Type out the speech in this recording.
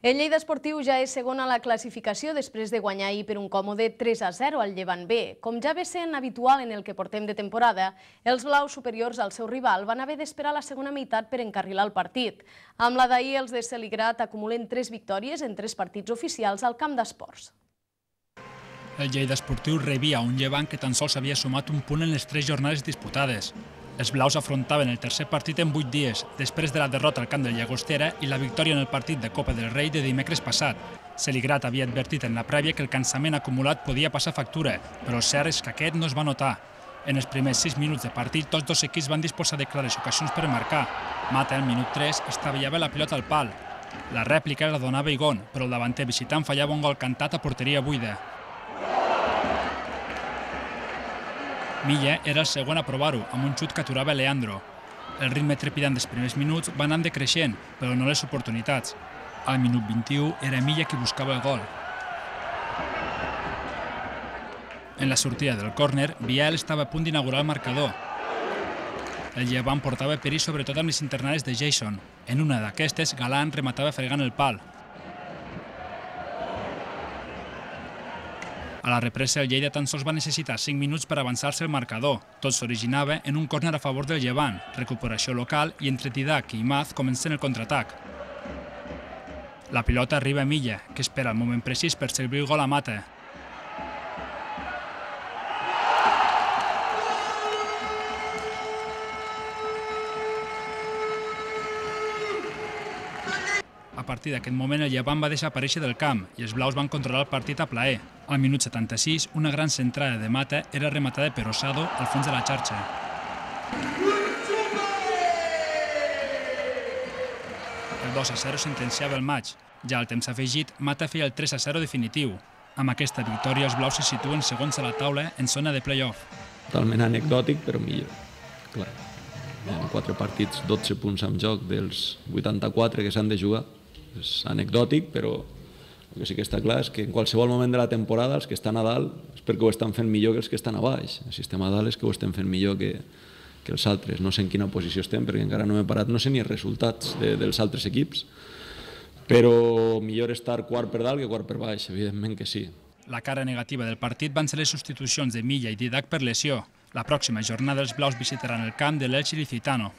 El Lleida Esportiu ja és segon a la classificació després de guanyar ahir per un còmode 3-0 al Llevant B. Com ja ve sent habitual en el que portem de temporada, els blaus superiors al seu rival van haver d'esperar la segona meitat per encarrilar el partit. Amb la d'ahir, els de Celigrat acumulen 3 victòries en 3 partits oficials al camp d'esports. El Lleida Esportiu rebia un Llevant que tan sols havia sumat un punt en les 3 jornades disputades. Els blaus afrontaven el tercer partit en 8 dies, després de la derrota al camp del Llagostera i la victòria en el partit de Copa del Rei de dimecres passat. Celigrat havia advertit en la prèvia que el cansament acumulat podia passar factura, però el cert és que aquest no es va notar. En els primers 6 minuts de partit, tots dos equips van disposar de clares ocasions per marcar. Mata, al minut 3, estavellava la pilota al pal. La rèplica la donava Igon, però el davanter visitant fallava un gol cantat a porteria buida. Milla era el segon a provar-ho, amb un xut que aturava Leandro. El ritme trepidant dels primers minuts va anant decreixent, però no les oportunitats. Al minut 21 era Milla qui buscava el gol. En la sortida del córner, Biel estava a punt d'inaugurar el marcador. El Llevant portava perill sobretot amb les internades de Jason. En una d'aquestes, Galán rematava fregant el pal. A la represa, el Lleida tan sols va necessitar 5 minuts per avançar-se el marcador. Tot s'originava en un córner a favor del Llevant, recuperació local i entre Didac i Imaz comencen el contraatac. La pilota arriba a Milla, que espera el moment precís per servir el gol a Mata. A partir d'aquest moment, el Llevant va desaparèixer del camp i els blaus van controlar el partit a plaer. Al minut 76, una gran centrada de Mata era rematada per Osado al fons de la xarxa. El 2-0 sentenciava el maig. Ja al temps afegit, Mata feia el 3-0 definitiu. Amb aquesta victòria, els blaus se situen segons a la taula en zona de play-off. Totalment anecdòtic, però millor. Clar, en 4 partits, 12 punts en joc dels 84 que s'han de jugar. És anecdòtic, però el que sí que està clar és que en qualsevol moment de la temporada els que estan a dalt és perquè ho estan fent millor que els que estan a baix. El sistema a dalt és que ho estem fent millor que els altres. No sé en quina posició estem perquè encara no m'he parat, no sé ni els resultats dels altres equips, però millor estar quart per dalt que quart per baix, evidentment que sí. La cara negativa del partit van ser les substitucions de Milla i Didac per lesió. La pròxima jornada els blaus visitaran el camp de l'Elx Ilicitano.